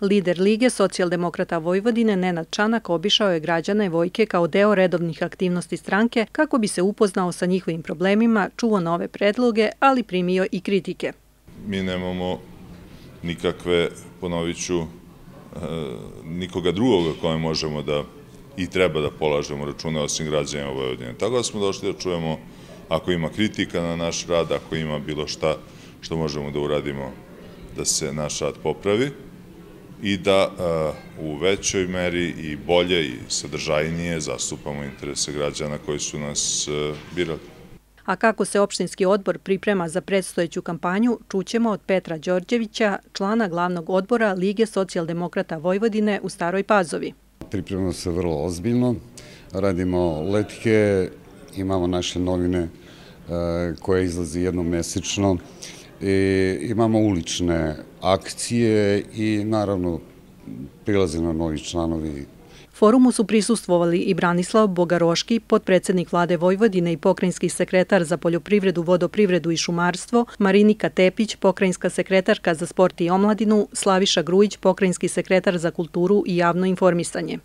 Lider Lige socijaldemokrata Vojvodine Nenad Čanak obišao je građane Vojke kao deo redovnih aktivnosti stranke kako bi se upoznao sa njihovim problemima, čuo nove predloge, ali primio i kritike. Mi nemamo nikakve, ponovit ću, nikoga drugoga kome možemo da i treba da polažemo račune osim građanima Vojvodine. Tako da smo došli da čujemo ako ima kritika na naš rad, ako ima bilo šta što možemo da uradimo da se naš rad popravi i da u većoj meri i bolje i sadržajnije zastupamo interese građana koji su nas birali. A kako se opštinski odbor priprema za predstojeću kampanju, čućemo od Petra Đorđevića, člana glavnog odbora Lige socijaldemokrata Vojvodine u Staroj Pazovi. Pripremamo se vrlo ozbiljno, radimo letke, imamo naše novine koje izlazi jednom mesečno, imamo ulične akcije i naravno prilaze na novi članovi. Forumu su prisustvovali i Branislav Bogaroški, potpredsednik Vlade Vojvodine i pokrajinski sekretar za poljoprivredu, vodoprivredu i šumarstvo, Marinika Tepić, pokrajinska sekretarka za sport i omladinu, Slaviša Grujić, pokrajinski sekretar za kulturu i javno informisanje.